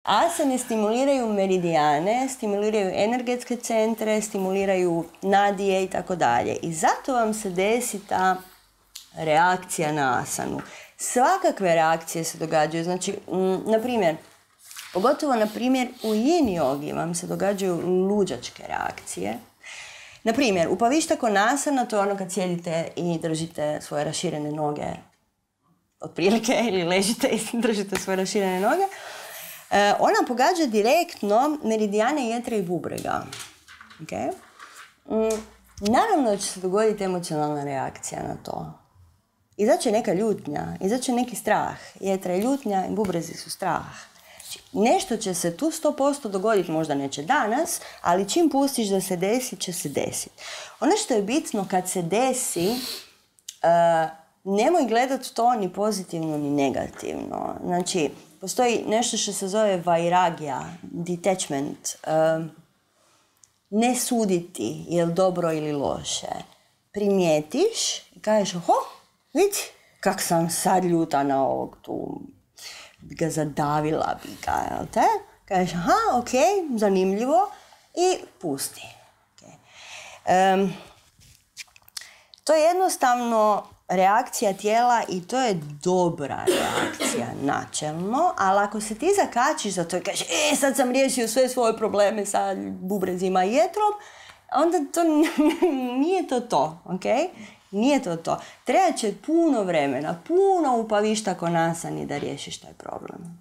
Asane stimuliraju meridijane, stimuliraju energetske centre, stimuliraju nadije i tako dalje. I zato vam se desi ta reakcija na asanu. Svakakve reakcije se događaju. Znači, na primjer, pogotovo na primjer u yin jogi vam se događaju luđačke reakcije. Na primjer, upavišta konasana, to je ono kad sjedite i držite svoje raširene noge otprilike, ili ležite i držite svoje raširene noge. Ona pogađa direktno meridijane jetre i bubrega. Okay? Naravno da će se dogoditi emocionalna reakcija na to. Izaće neka ljutnja, izaće neki strah. Jetra je ljutnja i bubrezi su strah. Znači, nešto će se tu 100% dogoditi, možda neće danas, ali čim pustiš da se desi, će se desiti. Ono što je bitno kad se desi, nemoj gledati to ni pozitivno ni negativno. Znači, postoji nešto što se zove vairagya, detachment, ne suditi je li dobro ili loše. Primijetiš i kažeš, vidi kak sam sad ljuta na ovog tu, bi ga zadavila, bi ga, jel te? Kažeš, ok, zanimljivo i pusti. Okay. To je jednostavno reakcija tijela i to je dobra reakcija načelno, ali ako se ti zakačiš za to i kažeš, sad sam riješio sve svoje probleme sa bubrezima i jetrom, onda to nije to, ok? Nije to. Treba će puno vremena, puno upavišta konasani da riješiš taj problem.